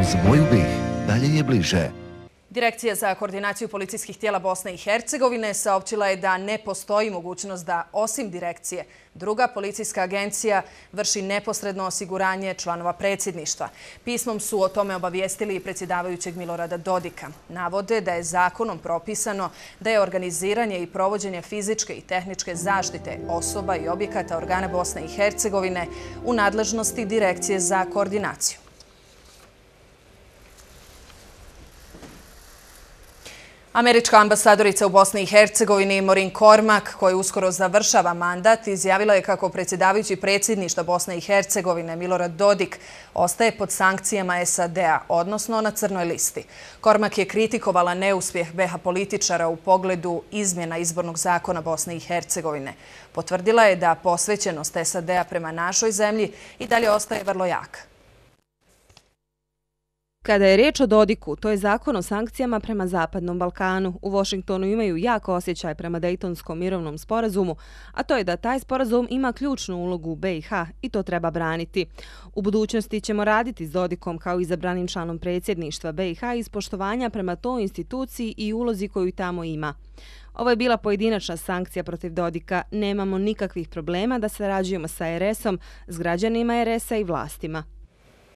Uz moju BiH dalje je bliže. Direkcija za koordinaciju policijskih tijela Bosne i Hercegovine saopćila je da ne postoji mogućnost da, osim direkcije, druga policijska agencija vrši neposredno osiguranje članova predsjedništva. Pismom su o tome obavijestili i predsjedavajućeg Milorada Dodika. Navode da je zakonom propisano da je organiziranje i provođenje fizičke i tehničke zaštite osoba i objekata organa Bosne i Hercegovine u nadležnosti Direkcije za koordinaciju. Američka ambasadorica u Bosni i Hercegovini Maureen Cormack, koja uskoro završava mandat, izjavila je kako predsjedavajući predsjedništva Bosne i Hercegovine Milorad Dodik ostaje pod sankcijama SAD-a, odnosno na crnoj listi. Cormack je kritikovala neuspjeh BiH političara u pogledu izmjena izbornog zakona Bosne i Hercegovine. Potvrdila je da posvećenost SAD-a prema našoj zemlji i dalje ostaje vrlo jaka. Kada je riječ o Dodiku, to je zakon o sankcijama prema Zapadnom Balkanu. U Washingtonu imaju jak osjećaj prema Dejtonskom mirovnom sporazumu, a to je da taj sporazum ima ključnu ulogu u BiH i to treba braniti. U budućnosti ćemo raditi s Dodikom kao izabranim članom predsjedništva BiH iz poštovanja prema toj instituciji i ulozi koju tamo ima. Ovo je bila pojedinačna sankcija protiv Dodika. Nemamo nikakvih problema da sarađujemo sa RS-om, s građanima RS-a i vlastima.